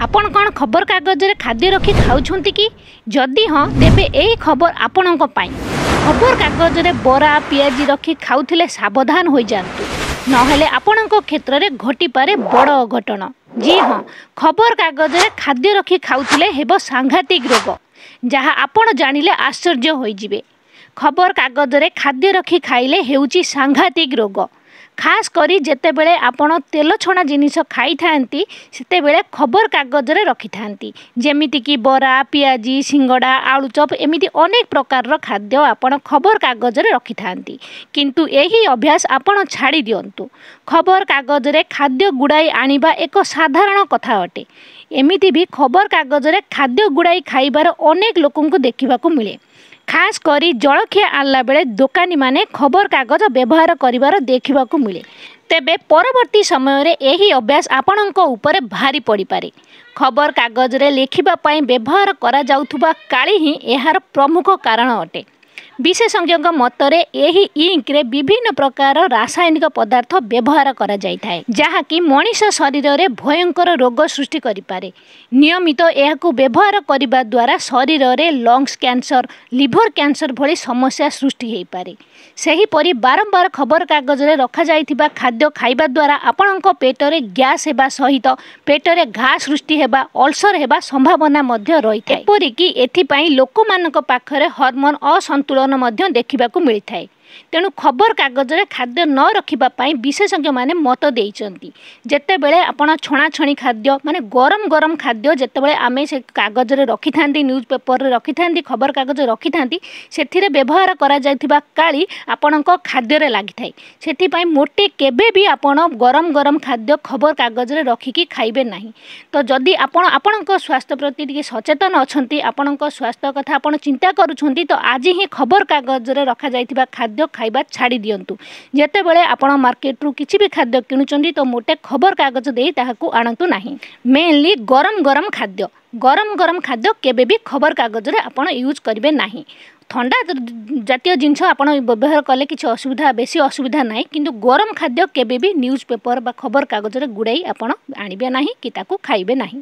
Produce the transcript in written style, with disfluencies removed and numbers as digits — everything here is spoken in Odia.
ଆପଣ କ'ଣ ଖବରକାଗଜରେ ଖାଦ୍ୟ ରଖି ଖାଉଛନ୍ତି କି? ଯଦି ହଁ, ତେବେ ଏହି ଖବର ଆପଣଙ୍କ ପାଇଁ। ଖବରକାଗଜରେ ବରା, ପିଆଜି ରଖି ଖାଉଥିଲେ ସାବଧାନ ହୋଇଯାଆନ୍ତୁ, ନହେଲେ ଆପଣଙ୍କ କ୍ଷେତ୍ରରେ ଘଟିପାରେ ବଡ଼ ଅଘଟଣ। ଜି ହଁ, ଖବରକାଗଜରେ ଖାଦ୍ୟ ରଖି ଖାଉଥିଲେ ହେବ ସାଂଘାତିକ ରୋଗ, ଯାହା ଆପଣ ଜାଣିଲେ ଆଶ୍ଚର୍ଯ୍ୟ ହୋଇଯିବେ। ଖବରକାଗଜରେ ଖାଦ୍ୟ ରଖି ଖାଇଲେ ହେଉଛି ସାଂଘାତିକ ରୋଗ। ଖାସ୍ କରି ଯେତେବେଳେ ଆପଣ ତେଲ ଛଣା ଜିନିଷ ଖାଇଥାନ୍ତି, ସେତେବେଳେ ଖବରକାଗଜରେ ରଖିଥାନ୍ତି, ଯେମିତିକି ବରା, ପିଆଜି, ସିଙ୍ଗଡ଼ା, ଆଳୁଚପ, ଏମିତି ଅନେକ ପ୍ରକାରର ଖାଦ୍ୟ ଆପଣ ଖବରକାଗଜରେ ରଖିଥାନ୍ତି। କିନ୍ତୁ ଏହି ଅଭ୍ୟାସ ଆପଣ ଛାଡ଼ି ଦିଅନ୍ତୁ। ଖବରକାଗଜରେ ଖାଦ୍ୟ ଗୁଡ଼ାଇ ଆଣିବା ଏକ ସାଧାରଣ କଥା ଅଟେ। ଏମିତି ବି ଖବରକାଗଜରେ ଖାଦ୍ୟ ଗୁଡ଼ାଇ ଖାଇବାର ଅନେକ ଲୋକଙ୍କୁ ଦେଖିବାକୁ ମିଳେ। ଖାସ୍ କରି ଜଳଖିଆ ଆଣିଲା ବେଳେ ଦୋକାନୀମାନେ ଖବରକାଗଜ ବ୍ୟବହାର କରିବାର ଦେଖିବାକୁ ମିଳେ। ତେବେ ପରବର୍ତ୍ତୀ ସମୟରେ ଏହି ଅଭ୍ୟାସ ଆପଣଙ୍କ ଉପରେ ଭାରି ପଡ଼ିପାରେ। ଖବରକାଗଜରେ ଲେଖିବା ପାଇଁ ବ୍ୟବହାର କରାଯାଉଥିବା କାଳି ହିଁ ଏହାର ପ୍ରମୁଖ କାରଣ ଅଟେ। ବିଶେଷଜ୍ଞଙ୍କ ମତରେ ଏହି ଇଙ୍କରେ ବିଭିନ୍ନ ପ୍ରକାର ରାସାୟନିକ ପଦାର୍ଥ ବ୍ୟବହାର କରାଯାଇଥାଏ, ଯାହାକି ମଣିଷ ଶରୀରରେ ଭୟଙ୍କର ରୋଗ ସୃଷ୍ଟି କରିପାରେ। ନିୟମିତ ଏହାକୁ ବ୍ୟବହାର କରିବା ଦ୍ୱାରା ଶରୀରରେ ଲଙ୍ଗସ୍ କ୍ୟାନ୍ସର, ଲିଭର କ୍ୟାନ୍ସର ଭଳି ସମସ୍ୟା ସୃଷ୍ଟି ହୋଇପାରେ। ସେହିପରି ବାରମ୍ବାର ଖବରକାଗଜରେ ରଖାଯାଇଥିବା ଖାଦ୍ୟ ଖାଇବା ଦ୍ୱାରା ଆପଣଙ୍କ ପେଟରେ ଗ୍ୟାସ୍ ହେବା ସହିତ ପେଟରେ ଘା ସୃଷ୍ଟି ହେବା, ଅଲସର ହେବା ସମ୍ଭାବନା ମଧ୍ୟ ରହିଥାଏ। ଏପରିକି ଏଥିପାଇଁ ଲୋକମାନଙ୍କ ପାଖରେ ହରମୋନ୍ ଅସନ୍ତୁଳନ ମଧ୍ୟ ଦେଖିବାକୁ ମିଳିଥାଏ। ତେଣୁ ଖବରକାଗଜରେ ଖାଦ୍ୟ ନ ରଖିବା ପାଇଁ ବିଶେଷଜ୍ଞମାନେ ମତ ଦେଇଛନ୍ତି। ଯେତେବେଳେ ଆପଣ ଛଣାଛଣି ଖାଦ୍ୟ, ମାନେ ଗରମ ଗରମ ଖାଦ୍ୟ ଯେତେବେଳେ ଆମେ ସେ କାଗଜରେ ରଖିଥାନ୍ତି, ନ୍ୟୁଜ୍ ପେପରରେ ରଖିଥାନ୍ତି, ଖବରକାଗଜ ରଖିଥାନ୍ତି, ସେଥିରେ ବ୍ୟବହାର କରାଯାଇଥିବା କାଳି ଆପଣଙ୍କ ଖାଦ୍ୟରେ ଲାଗିଥାଏ। ସେଥିପାଇଁ ମୋଟେ କେବେ ବି ଆପଣ ଗରମ ଗରମ ଖାଦ୍ୟ ଖବରକାଗଜରେ ରଖିକି ଖାଇବେ ନାହିଁ। ତ ଯଦି ଆପଣ ଆପଣଙ୍କ ସ୍ୱାସ୍ଥ୍ୟ ପ୍ରତି ଟିକେ ସଚେତନ ଅଛନ୍ତି, ଆପଣଙ୍କ ସ୍ୱାସ୍ଥ୍ୟ କଥା ଆପଣ ଚିନ୍ତା କରୁଛନ୍ତି, ତ ଆଜି ହିଁ ଖବରକାଗଜରେ ରଖାଯାଇଥିବା ଖାଦ୍ୟ ଖାଇବା ଛାଡ଼ି ଦିଅନ୍ତୁ। ଯେତେବେଳେ ଆପଣ ମାର୍କେଟରୁ କିଛି ବି ଖାଦ୍ୟ କିଣୁଛନ୍ତି, ତ ମୋଟେ ଖବରକାଗଜ ଦେଇ ତାହାକୁ ଆଣନ୍ତୁ ନାହିଁ। ମେନଲି ଗରମ ଗରମ ଖାଦ୍ୟ, ଗରମ ଗରମ ଖାଦ୍ୟ କେବେ ବି ଖବରକାଗଜରେ ଆପଣ ୟୁଜ୍ କରିବେ ନାହିଁ। ଥଣ୍ଡା ଜାତୀୟ ଜିନିଷ ଆପଣ ବ୍ୟବହାର କଲେ କିଛି ଅସୁବିଧା, ବେଶୀ ଅସୁବିଧା ନାହିଁ, କିନ୍ତୁ ଗରମ ଖାଦ୍ୟ କେବେ ବି ନ୍ୟୁଜ୍ ପେପର ବା ଖବରକାଗଜରେ ଗୁଡ଼ାଇ ଆପଣ ଆଣିବେ ନାହିଁ କି ତାକୁ ଖାଇବେ ନାହିଁ।